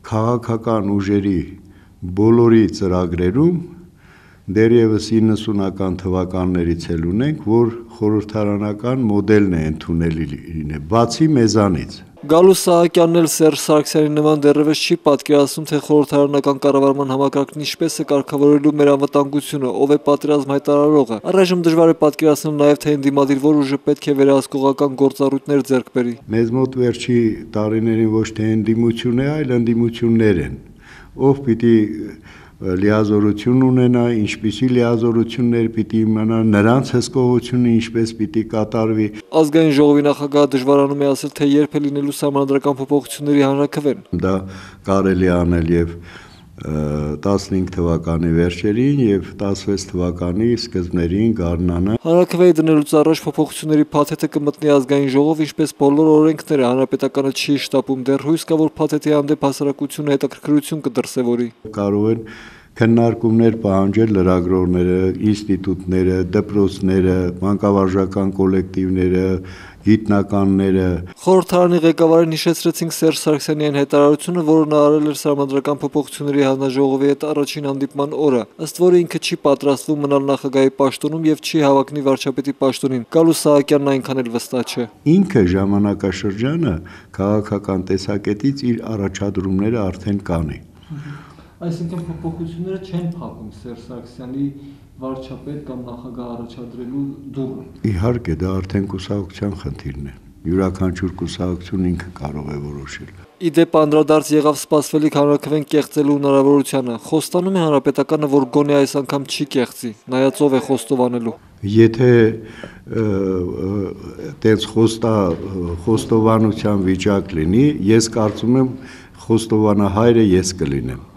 քաղաքական ուժերի բոլորի ծրագրերում դեռևս 90-ական թվականներից էլ ունենք, որ խորհրդարանական մոդելն է ընդունելի, բացի մեզանից։ Գալուս Սահակյանն էլ Սերժ Սարգսյանի նման դեռևս չի պատկերացնում, թե խորհրդարանական կառավարման համակարգն ինչպես է կարգավորելու մեր անվտանգությունը, ով է պատերազմ հայտարարողը։ Առայժմ դժվար է պատկերացնել նաև, թե ընդդիմադիր որ ուժը պետք է վերահսկողական գործառույթներ ձեռք բերի։ Մեզ մոտ վերջի տարիներին ոչ թե ընդդիմություն է, այլ ընդդիմություններ են, ով պիտի լիազորություն ունենա, ինչպիսի լիազորություններ պիտի իմանա, նրանց հսկողությունը ինչպես պիտի կատարվի։ Ազգային ժողովի նախագահը դժվարանում է ասել, թե երբ է լինելու սահմանադրական փոփոխությունների հանրաքվեն։ Դա կարելի անել եւ 15 թվականի վերջերին եւ 16 թվականի սկզբներին գարնանը։ Հանրաքվեի դնելուց առաջ փոփոխությունների փաթեթը կմտնի ազգային ժողով, ինչպես բոլոր օրենքները, հանրապետականը չի շտապում, դեռ հույս կա, որ փաթեթի հանդեպ հասարակությունը հետաքրքրություն կդրսևորի։ Կարող են քննարկումներ պահանջել լրագրողները, ինստիտուտները, դպրոցները, մանկավարժական կոլեկտիվները, գիտնականները։ Խորհրդարանի ղեկավարին հիշեցրեցինք Սերժ Սարգսյանի այն հայտարարությունը, որը նա արել էր սահմանադրական փոփոխությունների հանձնաժողովի հետ առաջին հանդիպման օրը, ըստ որի ինքը չի պատրաստվում մնալ նախագահի պաշտոնում եւ չի հավակնի վարչապետի պաշտոնին։ Գալուս Սահակյանն այնքան էլ վստահ չէ։ Ինքը ժամանակաշրջանը քաղաքական տեսակետից իր առաջադրումները արդեն կանի։ Այսինքն փոփոխությունները չեն փակում Սերժ Սարգսյանի վարչապետ կամ նախագահ առաջադրելու դուռը։ Իհարկե, դա արդեն կուսակցության խնդիրն է։ Յուրաքանչյուր կուսակցություն ինքը կարող է որոշել։ Իդեպ անդրադարձ եղավ սպասվելիք հանրաքվեն կեղծելու հնարավորությանը։ Խոստանում է հանրապետականը, որ գոնե այս անգամ չի կեղծի, նայած ով է խոստովանելու։ Եթե տենց խոստովանության վիճակ լինի, ես կարծում եմ խոստովանահայրը ես կլինեմ։